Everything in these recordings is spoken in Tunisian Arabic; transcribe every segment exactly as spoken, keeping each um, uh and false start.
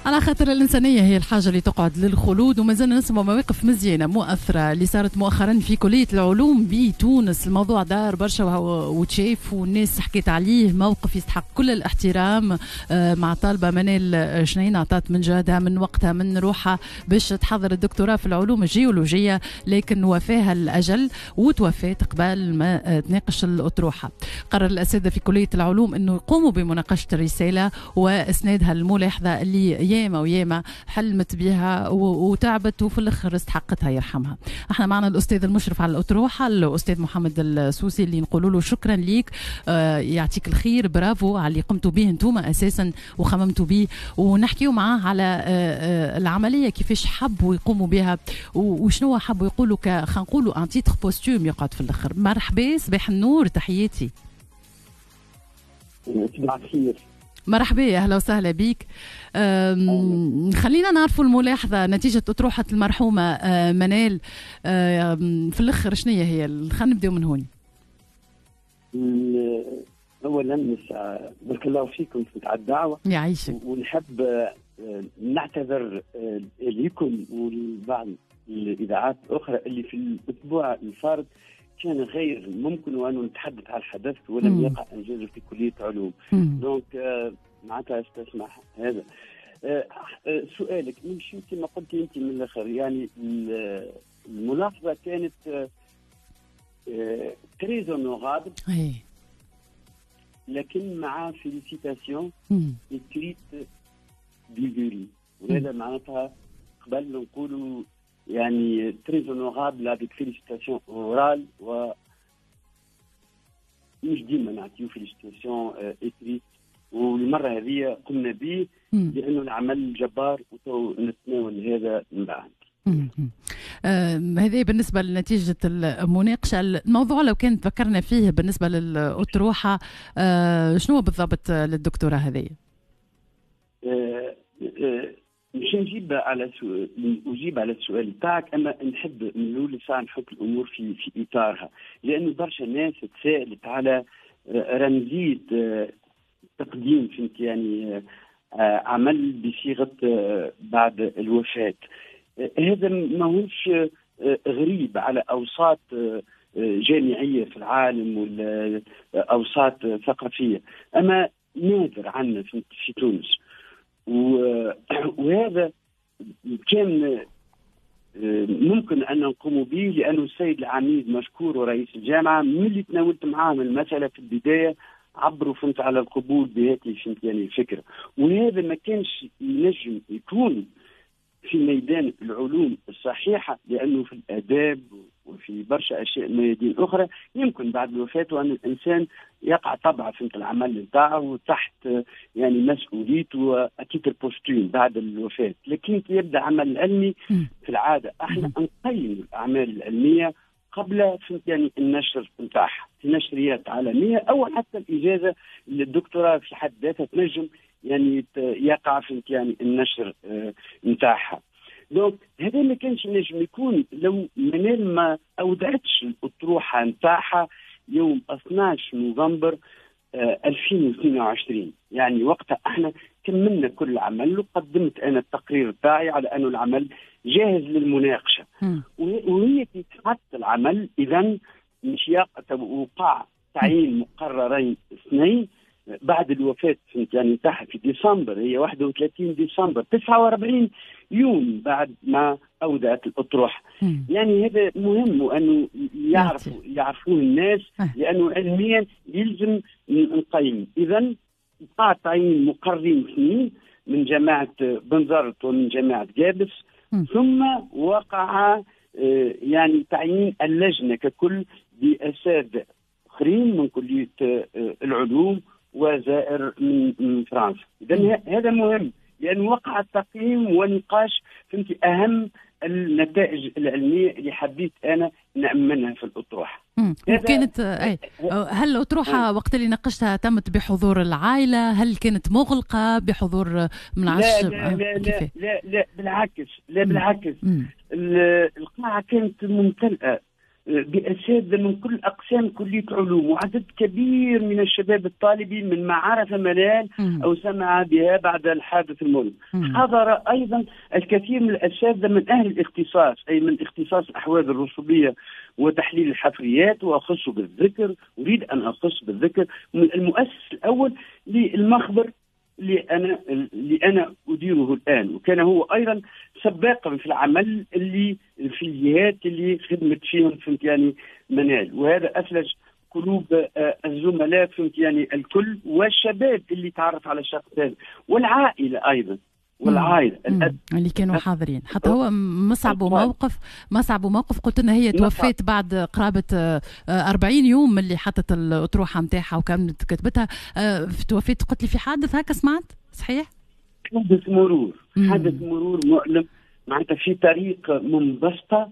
على خاطر الإنسانية هي الحاجة اللي تقعد للخلود. وما زلنا نسمع مواقف مزيانة مؤثرة اللي صارت مؤخرا في كلية العلوم بتونس. الموضوع دار برشا وتشاف والناس حكيت عليه، موقف يستحق كل الاحترام مع طالبة منال شنين، عطات من جهدها من وقتها من روحها باش تحضر الدكتوراه في العلوم الجيولوجية، لكن وفاها الأجل وتوفات قبل ما تناقش الأطروحة. قرر الأساتذة في كلية العلوم أنه يقوموا بمناقشة الرسالة وإسنادها الملاحظة اللي ياما وياما حلمت بها وتعبت وفي الاخر استحقتها يرحمها. احنا معنا الاستاذ المشرف على الاطروحه الاستاذ محمد السوسي اللي نقولوا له شكرا ليك، آه يعطيك الخير، برافو على اللي قمتوا به انتم اساسا وخممتوا به، ونحكيو معاه على آه آه العملية كيفاش حبوا يقوموا بها وشنو حبوا يقولوا، خلينا نقولوا un titre posthume يقعد في الاخر. مرحبا، صباح النور، تحياتي. صباح الخير. مرحبا، اهلا وسهلا بك. خلينا نعرفوا الملاحظة نتيجة اطروحة المرحومة منال في الاخر شنو هي؟ خلينا نبداو من هون. اولا بارك الله فيكم على الدعوة. يعيشك. ونحب نعتذر لكم ولبعض الاذاعات الاخرى اللي في الاسبوع الفارط كان غير ممكن وأن نتحدث على الحدث ولم يقع انجازه في كليه علوم. donc معناتها استسمح هذا. سؤالك نمشي كما قلت انت من الاخر، يعني الملاحظة كانت très honorable لكن مع félicitations écrites du jury، وهذا معناتها قبل نقولوا يعني très honorable avec félicitations orales، و مش ديما نعطيو félicitations écrites، والمرة هذه قمنا به لانه العمل جبار وتو نتناول هذا من بعد. هذه بالنسبة لنتيجة المناقشة. الموضوع لو كان تفكرنا فيه بالنسبة للاطروحه، آه شنو بالضبط للدكتوره هذه؟ آه آه مش نجيب على سؤال، اجيب على السؤال تاعك، اما نحب من الاول ساعة نحط الامور في في اطارها، لانه برشا ناس تساءلت على رمزية تقديم فهمت يعني عمل بصيغة بعد الوفاة. هذا ماهوش غريب على اوساط جامعية في العالم ولا اوساط ثقافية، اما نادر عندنا في تونس، وهذا كان ممكن ان نقوم به لانه السيد العميد مشكور ورئيس الجامعة من اللي تناولت معاهم المسالة في البداية عبروا فهمت على القبول بهذه فهمت يعني الفكرة، وهذا ما كانش ينجم يكون في ميدان العلوم الصحيحة، لانه في الاداب وفي برشا اشياء ميادين اخرى يمكن بعد الوفاة وان الانسان يقع طبعا فهمت العمل نتاعه تحت يعني مسؤوليته à titre posthume بعد الوفاة، لكن كي يبدا عمل علمي في العادة احنا نقيم الاعمال العلمية قبل فهمت يعني النشر نتاعها في نشريات عالمية او حتى الاجازة للدكتوراه في حد ذاتها تنجم يعني يقع فهمت يعني النشر نتاعها. donc هذا ما كانش نجم يكون لو منال ما اودعتش الاطروحه نتاعها يوم اثناش نوفمبر ألفين واثنين وعشرين، يعني وقتها احنا كملنا كل العمل وقدمت انا التقرير تاعي على انه العمل جاهز للمناقشه، وهي كي تحط العمل اذا مش وقع تعيين مقررين اثنين بعد الوفاة فهمت يعني تاعها في ديسمبر، هي واحد وثلاثين ديسمبر تسعة وأربعين يوم بعد ما أودعت الأطروحة. يعني هذا مهم وأنه يعرفوا يعرفوه الناس، لأنه علميا يلزم نقيم. إذا وقع تعيين مقررين اثنين من جامعة بنزرت ومن جامعة جابس، ثم وقع يعني تعيين اللجنة ككل بأساتذة آخرين من كلية العلوم وزائر من فرنسا. اذا هذا مهم لأن وقع التقييم ونقاش فهمتي أهم النتائج العلمية اللي حبيت أنا نأمنها في الأطروحة. وكانت أي هل الأطروحة وقت اللي ناقشتها تمت بحضور العائلة؟ هل كانت مغلقة بحضور من عشر؟ لا لا لا, لا لا بالعكس، لا بالعكس. القاعة كانت ممتلئة، بأساتذة من كل أقسام كلية العلوم، وعدد كبير من الشباب الطالبي من ما عرف منال أو سمع بها بعد الحادث المؤلم. حضر أيضا الكثير من الأساتذة من أهل الاختصاص، أي من اختصاص الأحواض الرسوبية وتحليل الحفريات، وأخص بالذكر، أريد أن أخص بالذكر من المؤسس الأول للمخبر اللي أنا اللي أنا أديره الآن، وكان هو أيضا سباقا في العمل اللي في الجهات اللي خدمت فيهم فهمت يعني منال، وهذا أثلج قلوب الزملاء فهمت يعني الكل، والشباب اللي تعرف على الشخص هذا، والعائلة أيضا، والعائلة الأب اللي كانوا حاضرين. حتى هو مصعب موقف، مصعب موقف قلت لنا هي توفت بعد قرابة أربعين يوم من اللي حطت الأطروحة نتاعها وكانت كتبتها، توفيت قلت لي في حادث هكا، سمعت صحيح؟ حادث مرور، حادث مرور مؤلم، معناتها في طريق منبسطة.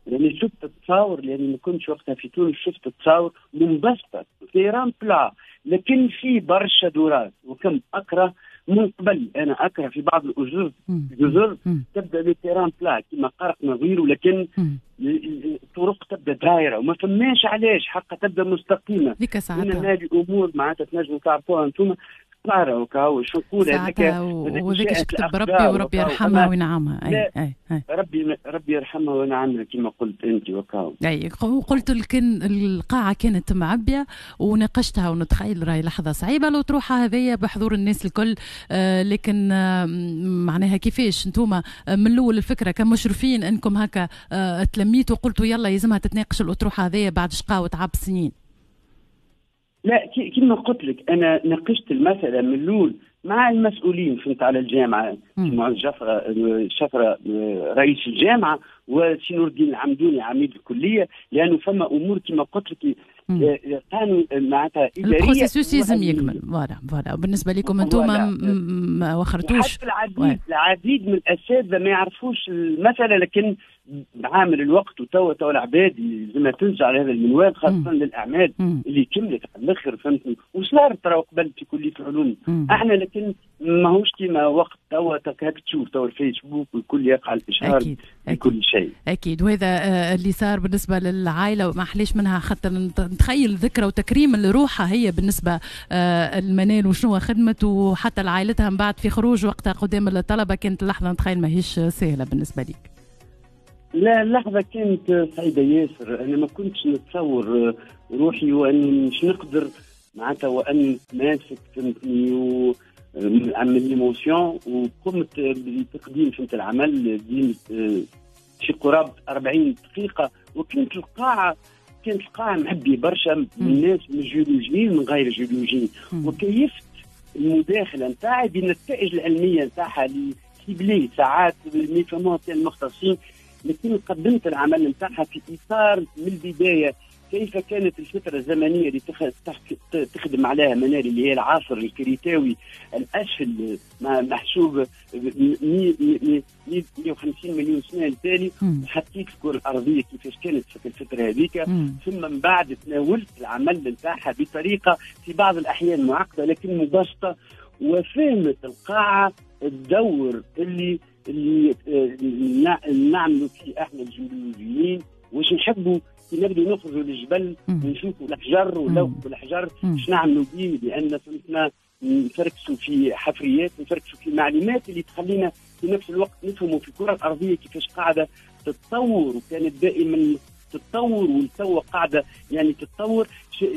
يعني شفت التصاور، لأني ما كنتش وقتها في تونس، شفت التصاور منبسطة terrain plat، لكن في برشا دورات. وكم أكره من قبل، أنا أكره في بعض الأجزر جزر تبدأ ب terrain plat كما قرقنا غيره، لكن الطرق تبدأ دايرة وما فماش علاش حقا تبدأ مستقيمة. ديك ساعتها هذه الأمور معناتها تنجموا تعرفوها أنتم قارة وكاو شو نقول هذاك، وذاك كتب ربي وربي يرحمها وينعمها. أي أي أي ربي ربي يرحمها وينعمها كما قلت أنت وكاو. أي وقلت لكن القاعة كانت معبية وناقشتها، ونتخيل راهي لحظة صعيبة لو تروحها هذيا بحضور الناس الكل، آه لكن آه معناها كيفاش انتوما من الأول الفكرة كمشرفين أنكم هكا آه تلميتوا وقلتوا يلا يلزمها تتناقش الأطروحة هذيا بعد شقاء وتعب سنين؟ لا كما قلت لك انا ناقشت المسالة من الاول مع المسؤولين فهمت على الجامعة، معز جفرة شفرة رئيس الجامعة، وسي نور الدين العمدوني عميد الكلية، لانه فما امور كما قلت لك قانون معناتها ادارية، ال processus لازم يكمل. voilà voilà بالنسبة لكم انتم ما وخرتوش. حتى العديد العديد من الاساتذة ما يعرفوش المسالة، لكن بعامل الوقت وتوا توا العباد لازمها تنزع على هذا المنوال، خاصة للاعمال اللي كملت على الاخر فهمتني، وصارت ترى قبل في كليه العلوم احنا، لكن ماهوش كيما وقت توا هاك تشوف توا الفيسبوك والكل يقع الاشهار بكل شيء. اكيد، وهذا اللي صار بالنسبة للعائلة وما حليش منها، خاطر نتخيل ذكرى وتكريم لروحها هي بالنسبة المنال وشنو خدمت، وحتى لعائلتها من بعد في خروج وقتها قدام الطلبة، كانت اللحظة نتخيل ماهيش سهلة بالنسبة لك. لا اللحظة كانت سعيدة ياسر، أنا ما كنتش نتصور روحي وأني مش نقدر معناتها وأني ماسك فهمتني وعمل l'émotion، وقمت بتقديم فهمت العمل في قرابة أربعين دقيقة، وكانت القاعة كانت القاعة معبية برشا من الناس من الجيولوجيين من غير الجيولوجيين، وكيفت المداخلة نتاعي بالنتائج العلمية نتاعها اللي ciblée ساعات ما يفهموها المختصين، لكن قدمت العمل نتاعها في اطار من البداية كيف كانت الفترة الزمنية اللي تخدم عليها منال اللي هي العصر الكريتاوي الاسفل محسوب مئة وخمسين مليون سنة التالي، وحطيت الكره الارضية كيفاش كانت في الفترة هذيك، ثم من بعد تناولت العمل نتاعها بطريقة في بعض الاحيان معقدة لكن مبسطة، وفهمت القاعة الدور اللي اللي نعملوا فيه احنا الجيولوجيين، واش نحبوا كي نبدو نخرجوا للجبل ونشوفوا الحجر ولوح الحجر اش نعملوا به، لان فهمتنا نفركسوا في حفريات، نفركسوا في معلومات اللي تخلينا في نفس الوقت نفهموا في الكره الارضية كيفاش قاعدة تتطور، وكانت دائما تتطور والتو قاعدة يعني تتطور،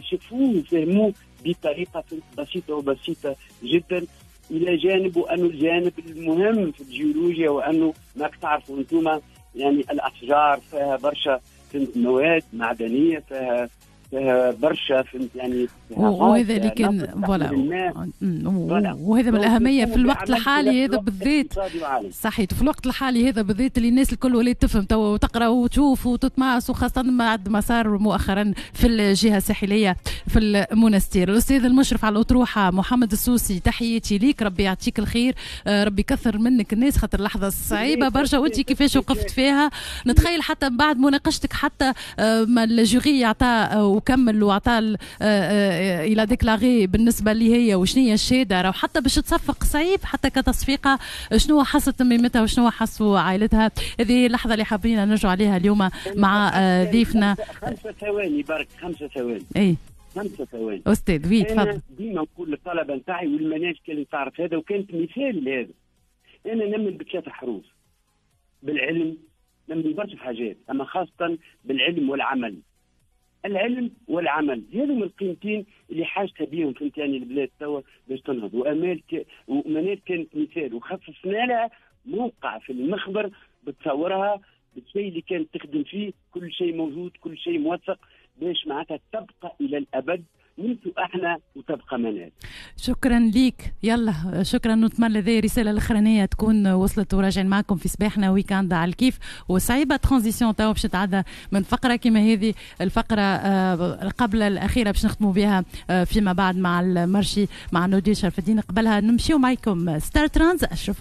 شافوه وفهموه بطريقة بسيطة وبسيطة جدا. الى جانب وانه الجانب المهم في الجيولوجيا وانه ماك تعرفوا انتم يعني الاشجار فيها برشا مواد معدنية، فيها فيها برشا فهمت يعني، وهذا اللي كان voilà، وهذا من الاهمية في الوقت الحالي هذا بالذات. صحيح، في الوقت الحالي هذا بالذات اللي الناس الكل ولات تفهم توا وتقرا وتشوف وتتمعس، وخاصة بعد ما صار مؤخرا في الجهة الساحلية في المونستير. الاستاذ المشرف على الاطروحه محمد السوسي، تحياتي ليك، ربي يعطيك الخير، ربي يكثر منك الناس، خاطر لحظة صعيبة برشا وانت كيفاش وقفت فيها. نتخيل حتى بعد مناقشتك حتى ما ال jury عطى وكمل وعطى il a déclaré بالنسبة لي هي وشنو هي الشهاده، راهو حتى باش تصفق صعيب، حتى كتصفيقه. شنو حست ميمتها وشنو حسوا عائلتها؟ هذه اللحظة اللي حابين نرجع عليها اليوم مع ضيفنا. خمسة ثواني برك، خمسة ثواني. اي خمسة ثواني. استاذ oui تفضل. ديما نقول للطلبة نتاعي والمناهج كانت تعرف هذا وكانت مثال لهذا. انا نمن بثلاث حروف، بالعلم، نمن برشا حاجات، اما خاصة بالعلم والعمل. العلم والعمل هذو القيمتين اللي حاجتها بيهم فهمت يعني البلاد توا باش تنهض. وامال ك... ومنال كانت مثال، وخصصنا لها موقع في المخبر بتصورها بالشيء اللي كانت تخدم فيه، كل شيء موجود، كل شيء موثق، باش معناتها تبقى الى الابد نمشوا احنا وتبقى منال. شكرا ليك، يلا شكرا، نتمنى هذه الرسالة الاخرانية تكون وصلت، وراجعين معكم في صباحنا week-end على الكيف. وصعيبه transition تو باش نتعدى من فقره كما هذه الفقرة آه، قبل الاخيرة باش نختموا بها آه، فيما بعد مع ال marché مع نودي شرف الدين. قبلها نمشيو معكم ستار ترانز اشرف.